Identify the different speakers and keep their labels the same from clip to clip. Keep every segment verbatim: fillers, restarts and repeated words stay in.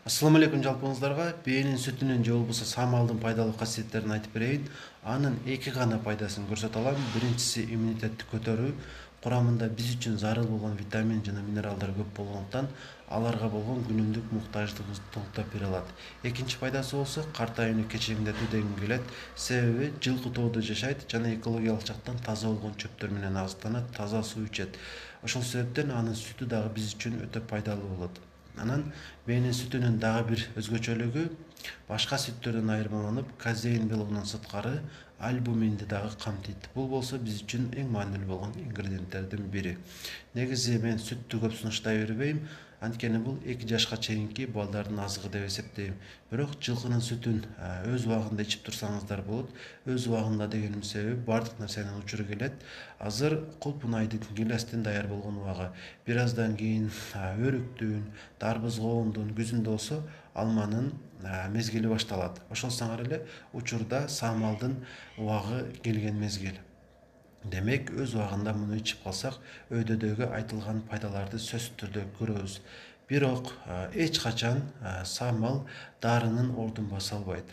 Speaker 1: Assalamu alaikum жалпыңыздарга. Бээнин сүтүнүн же болбосо самалдын пайдалуу касиеттерин айтып берейин. Анын эки гана пайдасын көрсөтө алам. Биринчиси иммунитетти көтөрүү. Курамында биз үчүн зарыл болгон витамин жана минералдар көп болгондуктан аларга болгон күнүмдүк муктаждыгыбызды толуктап бере алат. Экинчи пайдасы болсо картайууну кечиреңдетүү дегим келет. Себеби жылкы тоодо жашайт жана экологиялык жактан таза болгон чөптөр менен азыктанат, таза суу ичет. Ошол себептен анын сүтү дагы биз үчүн өтө пайдалуу болот. Анан бээнин сүтүнүн дагы бир өзгөчөлүгү башка сүттөрдөн айырмаланып, казеин белогунан сырткары альбуминди дагы камтыйт. Бул болсо биз үчүн эң маанилүү болгон ингредиенттердин бири. Негизи мен сүттү көп сунуштай бербейм, анткени бул эки жашка чейинки балдардын азыгы деп эсептейм. Бирок жылкынын сүтүн өз убагында ичип турсаңыздар болот. Өз убагында дегеним себеби бардык нерсенин учуру келет. Азыр кулпунайдын, гилястин даяр болгон убагы. Бир аздан кийин өрүктүн, дарбыз коондун, күзүндө болсо алманын мезгили башталат. Ошолсоңор эле учурда самалдын убагы келген мезгил. Демек, өз убагында муну ичип калсак, өйдөдөгү айтылган пайдаларды сөзсүз түрдө көрөбүз. Бирок эч качан самал дарынын ордун баса албайт.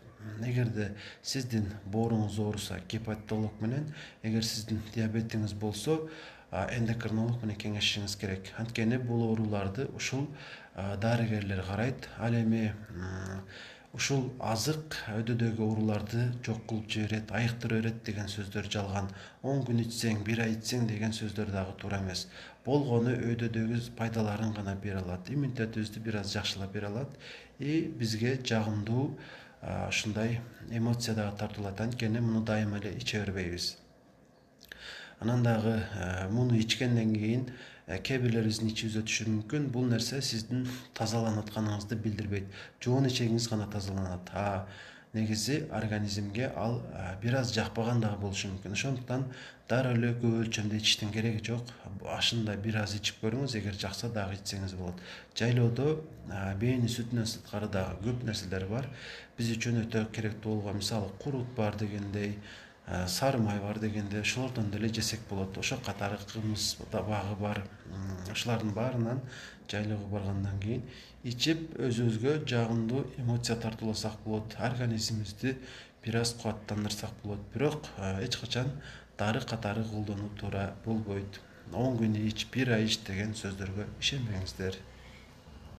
Speaker 1: Эгерде сиздин бооруңуз ооруса, гепатолог менен, эгер сиздин диабетиңиз болсо, эндокринолог менен кеңешишиңиз керек. Анткени бул ооруларды ушул дарыгерлер карайт. Ал эми ушул азык өйдөдөгү ооруларды жок кылып жиберет, айыктырып берет деген сөздөр жалган. он күн ичсең, бир ай ичсең деген сөздөр дагы туура эмес. Болгону өйдөдөгү пайдаларын гана бере алат. Иммунитетибизди бир аз жакшылап бере алат и бизге жагымдуу ушундай эмоция дагы тартуулат. Анткени муну дайыма эле иче бербейбиз. Анан дагы муну ичкенден кийин кээ бирлерибиздин ичибиз өтүшү мүмкүн. Бул нерсе сиздин тазаланып атканыңызды билдирбейт. Жоон ичегиңиз гана тазаланат. А негизи организмге ал бир аз жакпаган дагы болушу мүмкүн. Ошондуктан дароо эле көп өлчөмдө ичиштин кереги жок. Ашында бир аз ичип көрүңүз, эгер жакса дагы ичсеңиз болот. Жайлоодо бээнин сүтүнөн сырткары дагы көп нерселер бар. Биз үчүн өтө керектүү болгон, мисалы, курут бар дегендей, сары май бар дегенде, ошолордон деле жесек болот. Ошо катары кымыз багы бар. Ошолордун баарынан жайлоого баргандан кийин ичип өзүбүзгө жагымдуу эмоция тартууласак болот. Организмибизди бир аз кубаттандырсак болот. Бирок эч качан дары катары колдонуу туура болбойт. он күн ич, бир ай ич деген сөздөргө ишенбеңиздер.